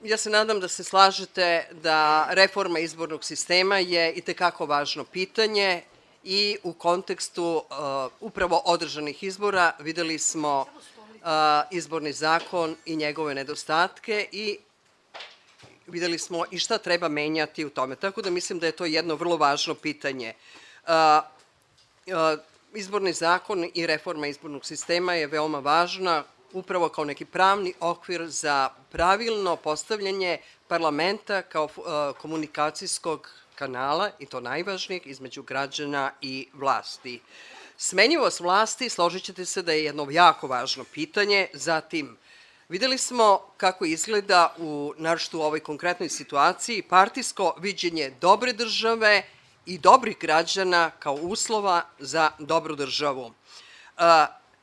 Ja se nadam da se slažete da reforma izbornog sistema je itekako važno pitanje i u kontekstu upravo održanih izbora videli smo izborni zakon i njegove nedostatke i videli smo i šta treba menjati u tome. Tako da mislim da je to jedno vrlo važno pitanje. Izborni zakon i reforma izbornog sistema je veoma važna upravo kao neki pravni okvir za pravilno postavljanje parlamenta kao komunikacijskog kanala, i to najvažnijeg, između građana i vlasti. Smenjivost vlasti, složit ćete se da je jedno jako važno pitanje. Zatim, videli smo kako izgleda naročito u ovoj konkretnoj situaciji partijsko viđenje dobre države i dobrih građana kao uslova za dobru državu.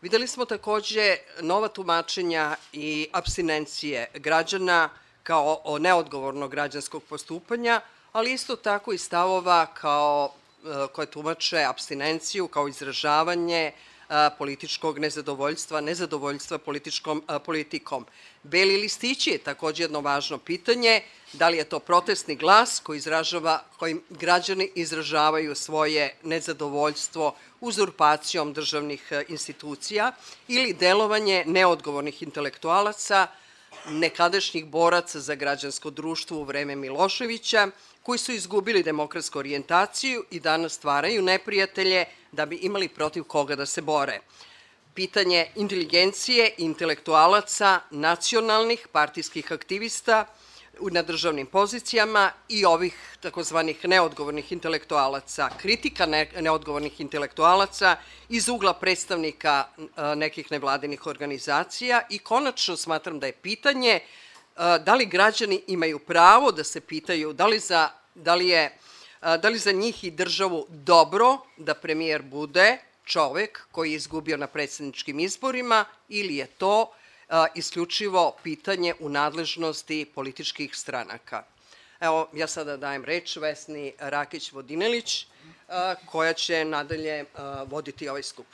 Videli smo takođe nova tumačenja i apstinencije građana kao neodgovornog građanskog postupanja, ali isto tako i stavova koje tumače apstinenciju kao izražavanje političkog nezadovoljstva politikom. Beli listići je takođe jedno važno pitanje, da li je to protestni glas kojim građani izražavaju svoje nezadovoljstvo uzurpacijom državnih institucija ili delovanje neodgovornih intelektualaca, nekadašnjih boraca za građansko društvo u vreme Miloševića, koji su izgubili demokratsku orijentaciju i danas stvaraju neprijatelje da bi imali protiv koga da se bore. Pitanje inteligencije i intelektualaca, nacionalnih partijskih aktivista na državnim pozicijama i ovih takozvanih neodgovornih intelektualaca, kritika neodgovornih intelektualaca iz ugla predstavnika nekih nevladinih organizacija i konačno smatram da je pitanje da li građani imaju pravo da se pitaju da li za njih i državu dobro da premijer bude čovek koji je izgubio na predsjedničkim izborima ili je to isključivo pitanje u nadležnosti političkih stranaka. Evo, ja sada dajem reč Vesni Rakić-Vodinelić, koja će nadalje voditi ovaj skup.